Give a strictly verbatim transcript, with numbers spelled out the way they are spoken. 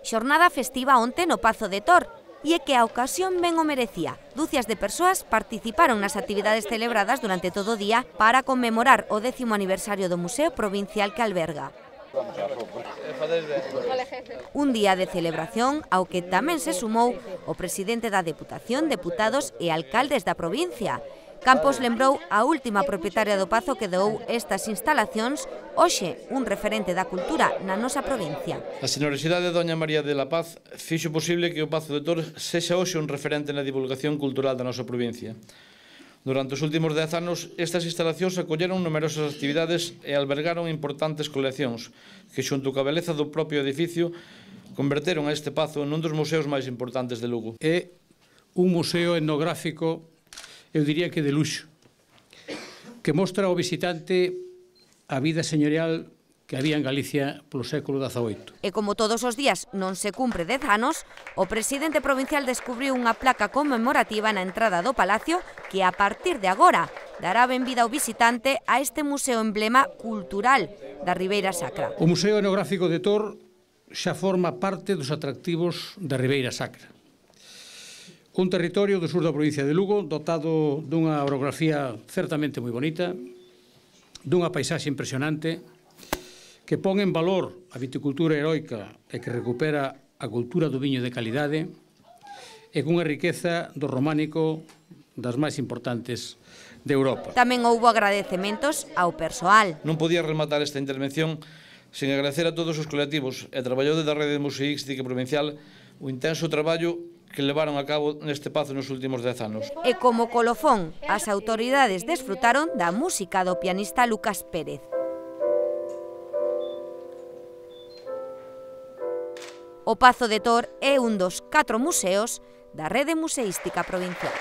Xornada festiva onte no Pazo de Tor, e é que a ocasión ben o merecía. Dúcias de persoas participaron nas actividades celebradas durante todo o día para conmemorar o décimo aniversario do Museo Provincial que alberga. Un día de celebración ao que tamén se sumou o presidente da Deputación, deputados e alcaldes da provincia. Campos lembrou a última propietaria do Pazo que doou estas instalacións, hoxe un referente da cultura na nosa provincia. A xenerosidade de doña María de la Paz fixo posible que o Pazo de Tor sexa hoxe un referente na divulgación cultural da nosa provincia. Durante os últimos dez anos, estas instalacións acolleron numerosas actividades e albergaron importantes coleccións que, xunto coa beleza do propio edificio, converteron a este pazo nun dos museos máis importantes de Lugo. É un museo etnográfico, eu diría que de luxo, que mostra ao visitante a vida señorial que había en Galicia polo século dezaoito. E como todos os días non se cumpre dez anos, o presidente provincial descubriu unha placa conmemorativa na entrada do Palacio que a partir de agora dará benvida ao visitante a este museo emblema cultural da Ribeira Sacra. O Museo Etnográfico de Tor xa forma parte dos atractivos da Ribeira Sacra. Un territorio do sur da provincia de Lugo dotado dunha orografía certamente moi bonita, dunha paisaxe impresionante, que pon en valor a viticultura heroica e que recupera a cultura do viño de calidade e cunha riqueza do románico das máis importantes de Europa. Tamén houbo agradecementos ao persoal. Non podía rematar esta intervención sen agradecer a todos os colectivos e traballadores da Rede Museística Provincial o intenso traballo que levaron a cabo neste pazo nos últimos dez anos. E como colofón, as autoridades desfrutaron da música do pianista Lucas Pérez. O Pazo de Tor é un dos catro museos da Rede Museística Provincial.